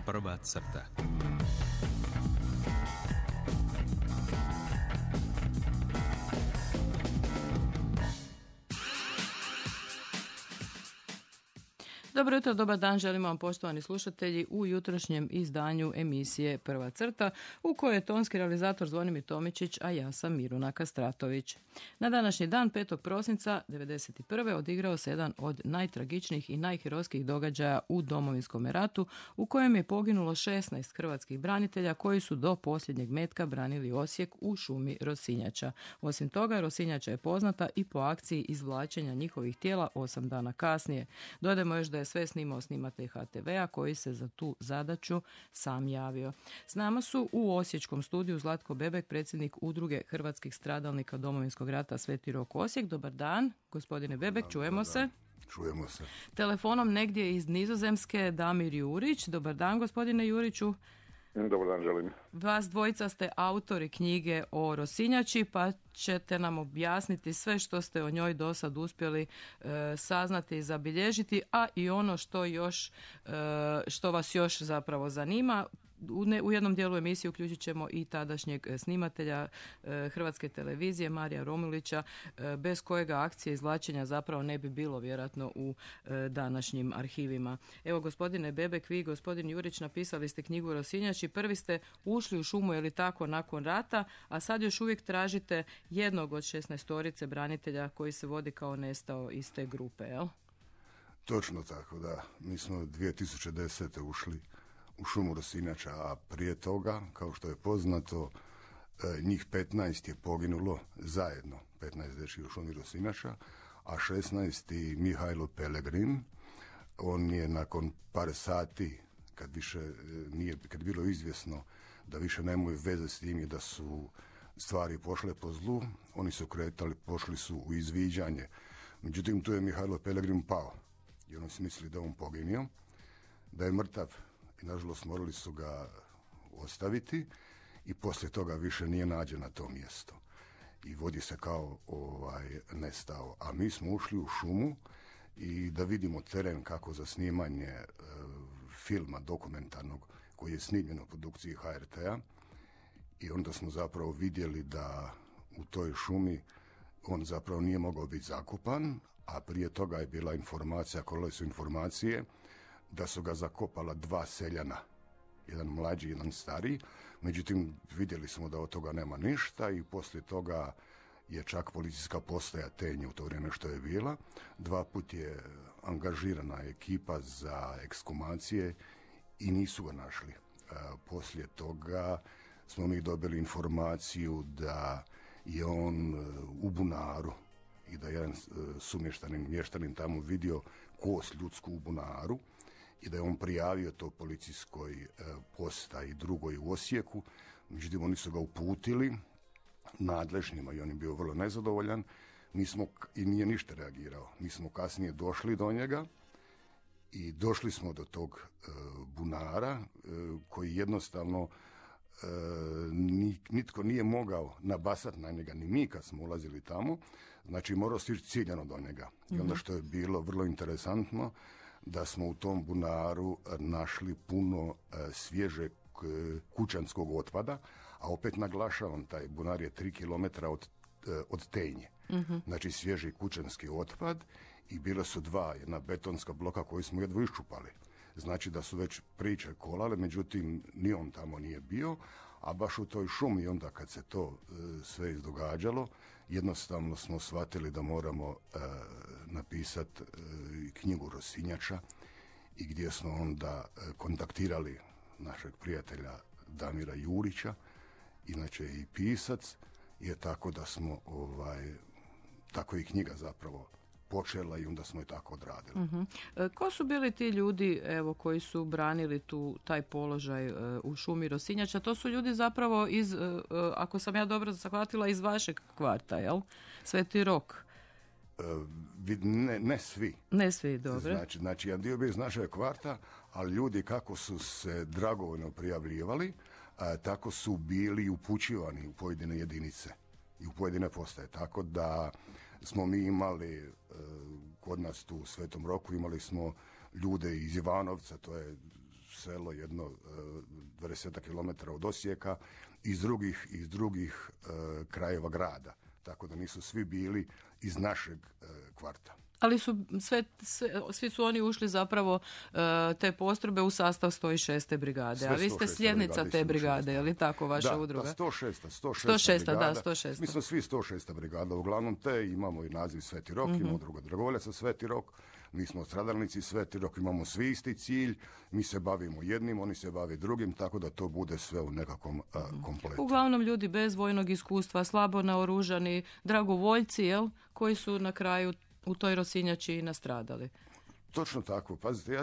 Prva crta. Dobro jutro, dobar dan, želimo vam poštovani slušatelji u jutrošnjem izdanju emisije Prva crta u kojoj je tonski realizator Zvonimir Tomičić, a ja sam Miruna Kastratović. Na današnji dan, 5. prosinca 1991. odigrao se jedan od najtragičnijih i najherojskih događaja u Domovinskom ratu u kojem je poginulo 16 hrvatskih branitelja koji su do posljednjeg metka branili Osijek u šumi Rosinjača. Osim toga, Rosinjača je poznata i po akciji izvlačenja njihovih tijela 8 dana kasnije. Dodajmo još da je sve snimao snimatelj HTV-a koji se za tu zadaću sam javio. S nama su u osječkom studiju Zlatko Bebek, predsjednik Udruge hrvatskih stradalnika Domovinskog rata Sveti Rok Osijek. Dobar dan, gospodine Bebek, čujemo se. Čujemo se. Telefonom negdje iz Nizozemske Damir Jurić. Dobar dan, gospodine Juriću. Dobar dan, želim. Vas dvojica ste autori knjige o Rosinjači, pa ćete nam objasniti sve što ste o njoj do sad uspjeli saznati i zabilježiti, a i ono što vas još zapravo zanima. U jednom dijelu emisije uključit ćemo i tadašnjeg snimatelja Hrvatske televizije Marija Romulića, bez kojega akcije izvlačenja zapravo ne bi bilo vjerojatno u današnjim arhivima. Evo, gospodine Bebek, vi, gospodin Jurić, napisali ste knjigu Rosinjači, prvi ste ušli u šumu, je li tako, nakon rata, a sad još uvijek tražite jednog od 16 branitelja koji se vodi kao nestao iz te grupe, jel? Točno tako, da. Mi smo 2010. ušli u šumu Rosinjača, a prije toga, kao što je poznato, njih 15 je poginulo zajedno, 15 dečki u šumi Rosinjača, a 16. Mihajlo Pelegrin, on je nakon par sati, kad je bilo izvjesno da više nemaju veze s tim i da su stvari pošle po zlu, oni su pošli su u izviđanje. Međutim, tu je Mihajlo Pelegrin pao i oni su mislili da on poginio, da je mrtav. I nažalost morali su ga ostaviti i poslije toga više nije nađen na to mjesto. I vodi se kao nestao. A mi smo ušli u šumu i da vidimo teren kako za snimanje filma dokumentarnog koji je snimljen u produkciji HRT-a. I onda smo zapravo vidjeli da u toj šumi on zapravo nije mogao biti zakopan, a prije toga je bila informacija, kolele su informacije, da su ga zakopala 2 seljana, jedan mlađi, jedan stariji. Međutim, vidjeli smo da od toga nema ništa i poslije toga je čak policijska postaja Tenje u to vrijeme što je bila. 2 put je angažirana ekipa za ekskumacije i nisu ga našli. Poslije toga smo mi dobili informaciju da je on u bunaru i da je jedan mještanin tamo vidio kost ljudsku u bunaru i da je on prijavio to policijskoj postaji drugoj u Osijeku. Međutim, oni su ga uputili nadležnjima i on je bio vrlo nezadovoljan. I nije ništa reagirao. Mi smo kasnije došli do njega i došli smo do tog bunara koji jednostavno nitko nije mogao nabasati na njega, ni mi kad smo ulazili tamo. Znači, morao stići ciljano do njega. I onda što je bilo vrlo interesantno, da smo u tom bunaru našli puno svježeg kućanskog otpada, a opet naglašavam, taj bunar je 3 km od Tenje. Znači, svježi kućanski otpad i bila su 2, jedna betonska bloka koju smo jedva iščupali. Znači da su već priče kolale, međutim ni on tamo nije bio, a baš u toj šumi onda kad se to sve izdogađalo, jednostavno smo shvatili da moramo napisati knjigu Rosinjača i gdje smo onda kontaktirali našeg prijatelja Damira Jurića, inače i pisac, je tako da smo tako i knjiga zapravo počela i onda smo je tako odradili. Ko su bili ti ljudi, evo, koji su branili taj položaj u šumi Rosinjača? To su ljudi zapravo iz, ako sam ja dobro shvatila, iz vašeg kvarta, jel? Sveti Rok. Ne svi. Ne svi, dobro. Znači, jedan dio bio iz našeg kvarta, ali ljudi kako su se dragovoljno prijavljivali, tako su bili upućivani u pojedine jedinice i u pojedine postaje. Tako da smo mi imali kod nas tu u Svetom Roku, imali smo ljude iz Ivanovca, to je selo, jedno 20 kilometara od Osijeka, iz drugih krajeva grada. Tako da nisu svi bili iz našeg kvarta. Ali su svi su oni ušli zapravo te postrojbe u sastav 106. brigade. A vi ste sljednica te brigade, je li tako vaša udruga? Da, 106. brigada. Da, 106. Mi smo svi 106. brigada. Uglavnom imamo i naziv Sveti Rok, imamo druga dragovoljaca Sveti Rok, mi smo stradalnici Sveti Rok, imamo svi isti cilj, mi se bavimo jednim, oni se bave drugim, tako da to bude sve u nekakvom kompletu. Uglavnom ljudi bez vojnog iskustva, slabo naoružani, dragovoljci, jel, koji su na kraju u toj Rosinjači nastradali. Točno tako. Pazite, ja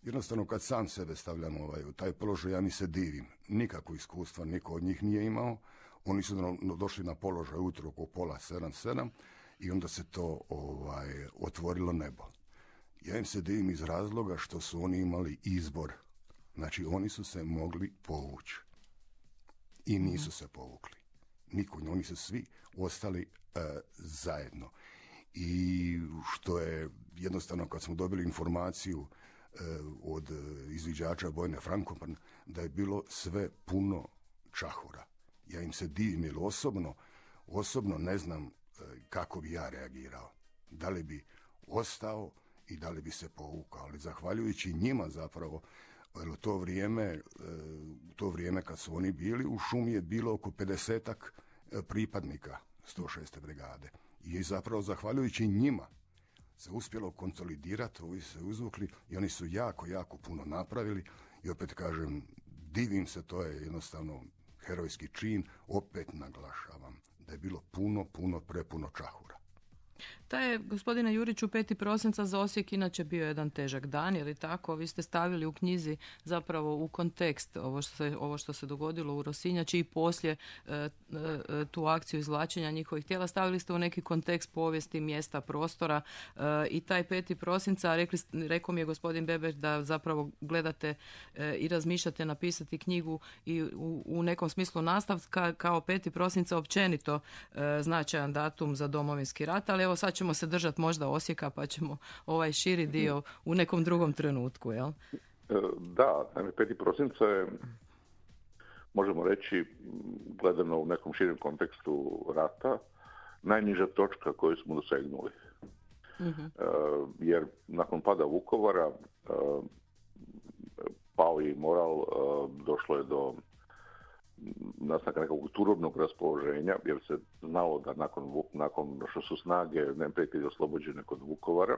jednostavno kad sam sebe stavljam u taj položaj, ja ni se divim. Nikakvo iskustva niko od njih nije imao. Oni su došli na položaj ujutro oko 6:30 i onda se to otvorilo nebo. Ja im se divim iz razloga što su oni imali izbor. Znači, oni su se mogli povući. I nisu se povukli. Oni su svi ostali zajedno. I što je jednostavno kad smo dobili informaciju od izviđača Bojne Frankopan da je bilo sve puno čahura. Ja im se divim jer osobno ne znam kako bi ja reagirao. Da li bi ostao i da li bi se povukao. Ali zahvaljujući njima zapravo, jer u to vrijeme kad su oni bili u šumi je bilo oko 50-ak pripadnika 106. brigade. I zapravo zahvaljujući njima se uspjelo konsolidirati, ovi se uzvukli i oni su jako puno napravili i opet kažem, divim se, to je jednostavno herojski čin, opet naglašavam da je bilo prepuno čahura. Taj je, gospodine Juriću, 5. prosinca za Osijek inače bio jedan težak dan, je li tako? Vi ste stavili u knjizi zapravo u kontekst ovo što se dogodilo u Rosinjači i poslije tu akciju izvlačenja njihovih tijela. Stavili ste u neki kontekst povijesti, mjesta, prostora i taj 5. prosinca, rekao mi je gospodin Beber da zapravo gledate i razmišljate napisati knjigu i u nekom smislu nastavka kao 5. prosinca općenito značajan datum za Domovinski rat, ali evo sad ćemo se držati možda Osijeka pa ćemo ovaj širi dio u nekom drugom trenutku, jel? Da, 5. prosinca je, možemo reći, gledano u nekom širem kontekstu rata, najniža točka koju smo dosegnuli. Jer nakon pada Vukovara pao je moral, došlo je do nastanka nekog turobnog raspoloženja, jer se znalo da nakon što su snage neprijatelja oslobođene kod Vukovara,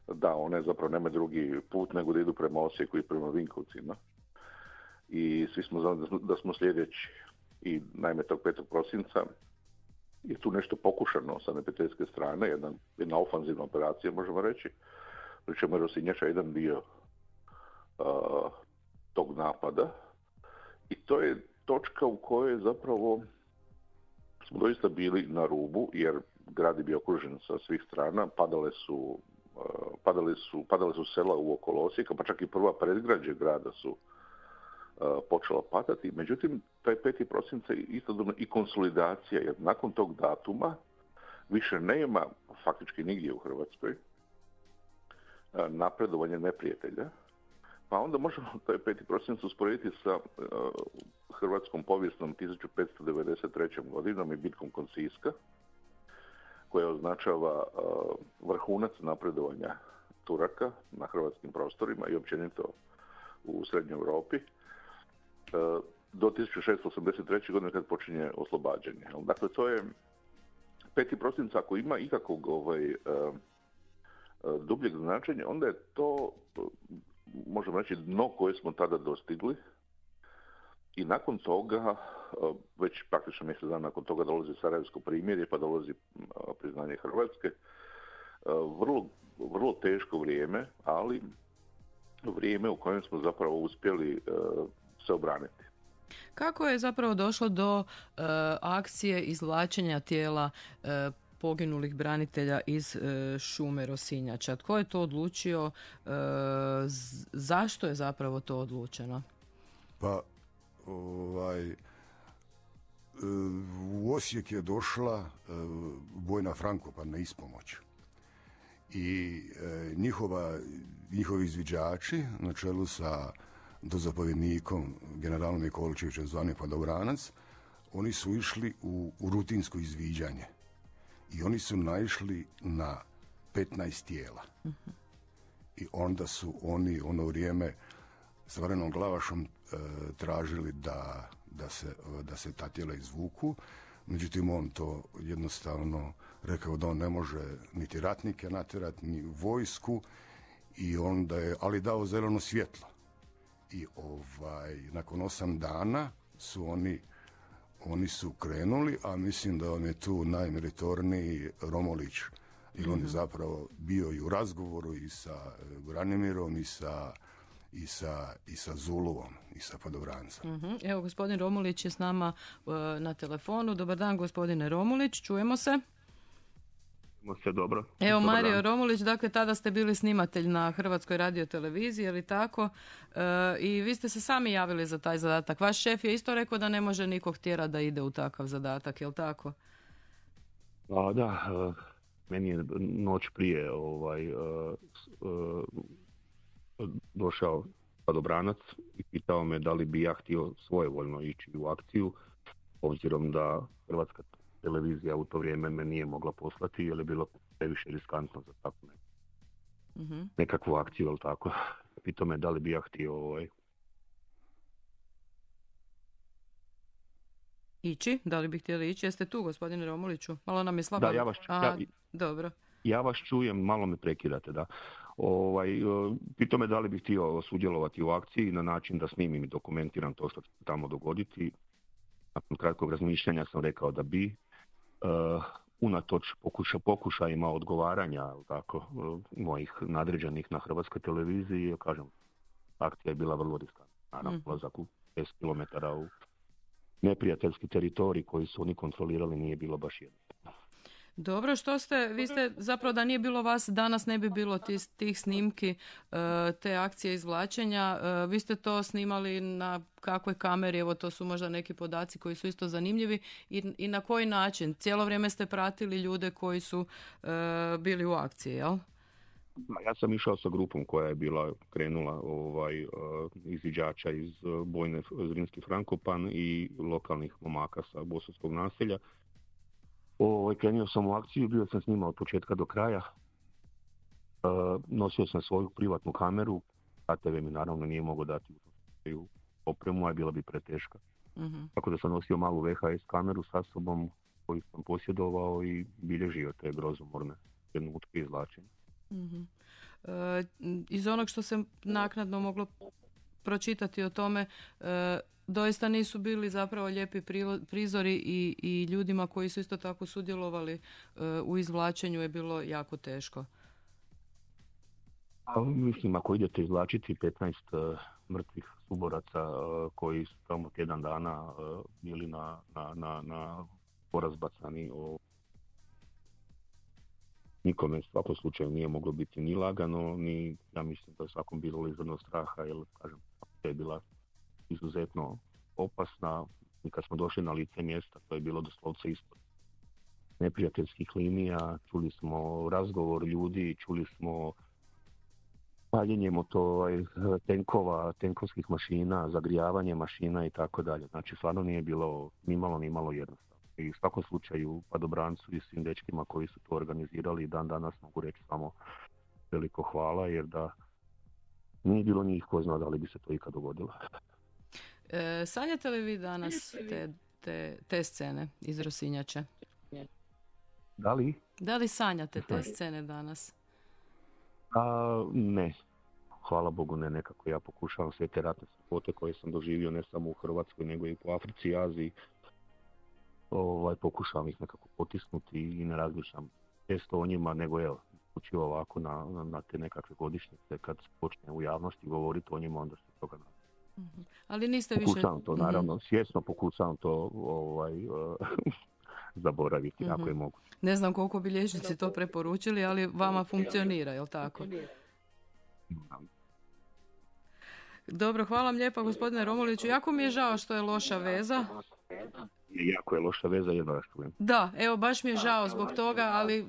da one zapravo nema drugi put nego da idu prema Osijeku i prema Vinkovcima. I svi smo znali da smo sljedeći. I naime tog 5. prosinca je tu nešto pokušano sa neprijateljske strane, jedna ofanzivna operacija, možemo reći, pri čemu je Rosinjača jedan dio tog napada. I to je točka u kojoj zapravo smo doista bili na rubu, jer grad je bio okružen sa svih strana, padale su sela u okolo Osijeka, pa čak i prva predgrađe grada su počela padati. Međutim, taj 5. prosinca je istodobno i konsolidacija, jer nakon tog datuma više nema faktički nigdje u Hrvatskoj napredovanje neprijatelja. Pa onda možemo taj 5. prosinac usporediti sa hrvatskom povijesnom 1593. godinom i bitkom kod Siska, koja označava vrhunac napredovanja Turaka na hrvatskim prostorima i općenito u Srednjoj Europi, do 1683. godine kad počinje oslobađanje. Dakle, to je 5. prosinca, ako ima ikakvog dubljeg značenja, onda je to, možemo reći, dno koje smo tada dostigli i nakon toga, već praktično mjesec dana nakon toga dolazi Sarajevsko primirje, pa dolazi priznanje Hrvatske. Vrlo teško vrijeme, ali vrijeme u kojem smo zapravo uspjeli se obraniti. Kako je zapravo došlo do akcije izvlačenja tijela poginulih branitelja iz šume Rosinjača? Tko je to odlučio? Zašto je zapravo to odlučeno? Pa, u Osijek je došla Bojna Frankopan na ispomoć. i njihovi izviđači na čelu sa dozapovjednikom generalom Nikolićevićem zvanim Padobranac, oni su išli u rutinsko izviđanje i oni su naišli na 15 tijela. I onda su oni ono vrijeme s Varenom Glavašom tražili da se ta tijela izvuku. Međutim, on to jednostavno rekao da on ne može niti ratnike natjerati, ni vojsku, i onda je, ali dao zeleno svjetlo. I nakon 8 dana su oni su krenuli, a mislim da on je tu najmeritorniji Romulić, jer on je zapravo bio i u razgovoru i sa Branimirom i sa Zuluvom i sa Padobrancem. Evo, gospodin Romulić je s nama na telefonu. Dobar dan, gospodine Romulić, čujemo se. Se dobro. Evo, Mario Romulić, dakle tada ste bili snimatelj na Hrvatskoj radioteleviziji, je li tako? I vi ste se sami javili za taj zadatak. Vaš šef je isto rekao da ne može nikog tjerati da ide u takav zadatak, je li tako? Da, meni je noć prije došao Padobranac i pitao me da li bi ja htio svojevoljno ići u akciju, obzirom da Hrvatska televizija u to vrijeme me nije mogla poslati jer je bilo previše riskantno za takvu nekakvu akciju, ali tako. Pitao me da li bi ja htio ići? Da li bi htjeli ići? Jeste tu, gospodine Romuliću? Malo nam je slabo. Da, dobro. Ja vas čujem, malo me prekidate, da. Pitao me da li bih htio sudjelovati u akciji na način da snimim i dokumentiram to što će se tamo dogoditi. Nakon kratkog razmišljanja sam rekao da bi. Unatoč pokušajima odgovaranja tako, mojih nadređenih na Hrvatskoj televiziji, kažem, akcija je bila vrlo riskantna. Naravno, ulazak u 5 km u neprijateljski teritorij koji su oni kontrolirali nije bilo baš jednostavno. Dobro, vi ste zapravo, da nije bilo vas, danas ne bi bilo tih snimki, te akcije izvlačenja. Vi ste to snimali na kakvoj kameri? Evo, to su možda neki podaci koji su isto zanimljivi. I na koji način? Cijelo vrijeme ste pratili ljude koji su bili u akciji, jel? Ja sam išao sa grupom koja je bila krenula izviđača iz bojne Zrinski Frankopan i lokalnih momaka sa Bosanskog naselja. Krenio sam u akciju, bio sam s njima od početka do kraja. Nosio sam svoju privatnu kameru, ATV mi naravno nije mogao dati u opremu, a bila bi preteška. Tako da sam nosio malu VHS kameru sa sobom koju sam posjedovao i bilježio te grozomorne trenutke izvlačenja. Iz onog što se naknadno moglo pročitati o tome, doista nisu bili zapravo lijepi prizori i ljudima koji su isto tako sudjelovali u izvlačenju je bilo jako teško. Mislim, ako idete izvlačiti 15 mrtvih suboraca koji su tamo tjedan dana bili na porazbacani, nikome u svakom slučaju nije moglo biti ni lagano, ni, ja mislim da svakom bilo izvrno straha, jer, kažem, to je bila izuzetno opasna. I kad smo došli na lice mjesta, to je bilo doslovce ispod neprijateljskih linija, čuli smo razgovor ljudi, čuli smo paljenje tenkova, tenkovskih mašina, zagrijavanje mašina i tako dalje. Znači, stvarno nije bilo ni malo jednostavno. I u svakom slučaju Padobrancu i svim dečkima koji su to organizirali, dan danas mogu reći samo veliko hvala, jer da nije bilo njih ko zna da li bi se to ikad dogodilo. Sanjate li vi danas te scene iz Rosinjače? Da li sanjate te scene danas? Ne. Hvala Bogu ne, nekako ja pokušavam sve te ratne strahote koje sam doživio ne samo u Hrvatskoj nego i po Africi i Aziji. Pokušavam ih nekako potisnuti i ne razmišljam često o njima, nego evo, učivo ovako na te nekakve godišnjice kad se počne u javnosti govoriti o njima, onda se toga naravno. Ali niste pokušavam to, naravno, svjesno pokušavam to zaboraviti, ako je moguće. Ne znam koliko bi liječnici to preporučili, ali vama funkcionira, je li tako? Dobro, hvala vam lijepa, gospodine Romuliću. Jako mi je žao što je loša veza. Jako je loša veza, jedno vas čujem. Da, evo baš mi je žao zbog toga, ali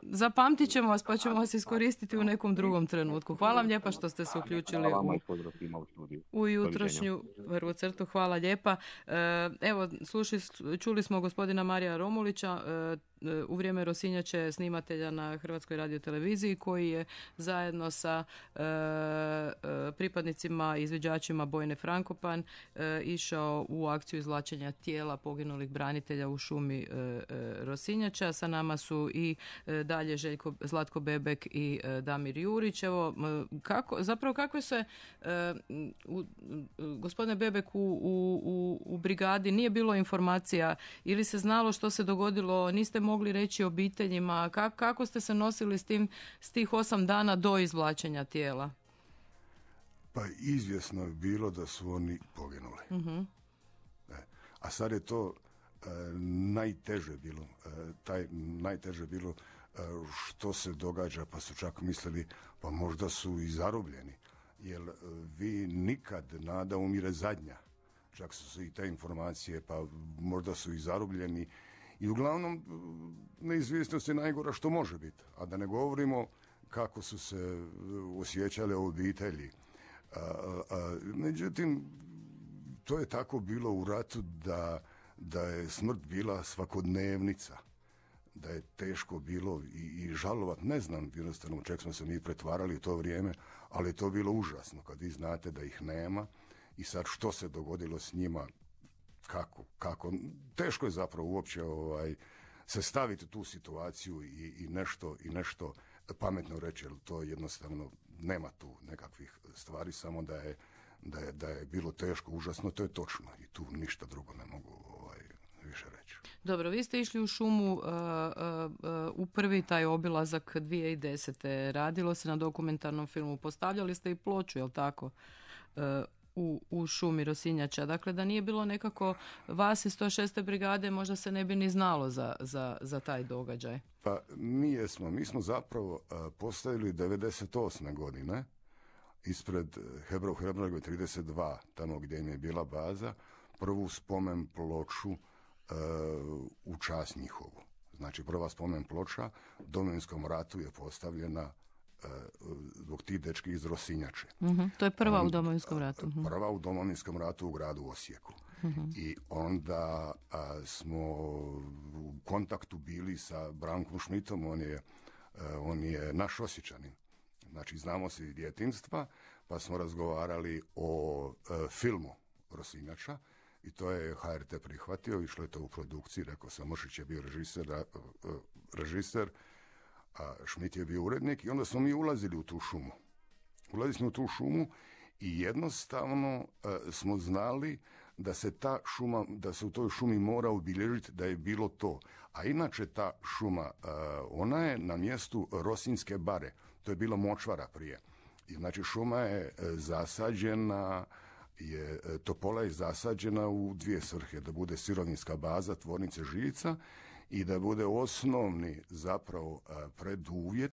zapamtit ćemo vas pa ćemo vas iskoristiti u nekom drugom trenutku. Hvala vam lijepa što ste se uključili u jutrošnju prvu crtu. Hvala lijepa. Evo, čuli smo gospodina Marija Romulića, u vrijeme Rosinjače, snimatelja na Hrvatskoj radioteleviziji, koji je zajedno sa pripadnicima, izviđačima Bojne Frankopan išao u akciju izvlačenja tijela poginulih branitelja u šumi Rosinjača. Sa nama su i dalje Zlatko Bebek i Damir Jurić. Evo, kakve se gospodine Bebek u brigadi nije bilo informacija ili se znalo što se dogodilo, niste mogli reći obiteljima, kako ste se nosili s tih 8 dana do izvlačenja tijela? Pa izvjesno je bilo da su oni poginuli. Uh-huh. A sad je to najteže bilo. Najteže bilo što se događa, pa su čak mislili pa možda su i zarobljeni. Jer vi nikad, nada umire zadnja. Čak su i te informacije, pa možda su i zarobljeni. I uglavnom, neizvjesnost je najgora što može biti. A da ne govorimo kako su se osjećale obitelji. Međutim, to je tako bilo u ratu da je smrt bila svakodnevnica. Da je teško bilo i žalovat. Ne znam jednostavno u čeg smo se mi pretvarali u to vrijeme, ali je to bilo užasno kad vi znate da ih nema i sad što se dogodilo s njima, kako. Teško je zapravo uopće se staviti u tu situaciju i nešto pametno reći, jer to jednostavno nema tu nekakvih stvari, samo da je bilo teško, užasno, to je točno i tu ništa drugo ne mogu više reći. Dobro, vi ste išli u šumu u prvi taj obilazak 2010. Radilo se na dokumentarnom filmu, postavljali ste i ploču, jel tako? U šumi Rosinjača. Dakle, da nije bilo nekako vas iz 106. brigade, možda se ne bi ni znalo za taj događaj. Pa mi smo zapravo postavili 98. godine ispred Hebrova 32, tamo gdje im je bila baza, prvu spomen ploču u čast njihovu. Znači, prva spomen ploča u Domovinskom ratu je postavljena zbog tih dečki iz Rosinjače. Uh-huh. To je prva u Domovinskom ratu. Uh-huh. Prva u Domovinskom ratu u gradu Osijeku. Uh-huh. I onda smo u kontaktu bili sa Brankom Šmitom, on je naš Osječanin. Znači, znamo se iz djetinjstva, pa smo razgovarali o filmu Rosinjača i to je HRT prihvatio, išlo je to u produkciji, rekao sam, Mršić je bio režiser, a Šmit je bio urednik i onda smo mi ulazili u tu šumu. Ulazili smo u tu šumu i jednostavno smo znali da se u toj šumi mora obilježiti da je bilo to. A inače ta šuma, ona je na mjestu Rosinjske bare. To je bila močvara prije. I znači šuma je zasađena, topola je zasađena u dvije svrhe. Da bude sirovinska baza tvornice žica i da bude osnovni zapravo preduvjet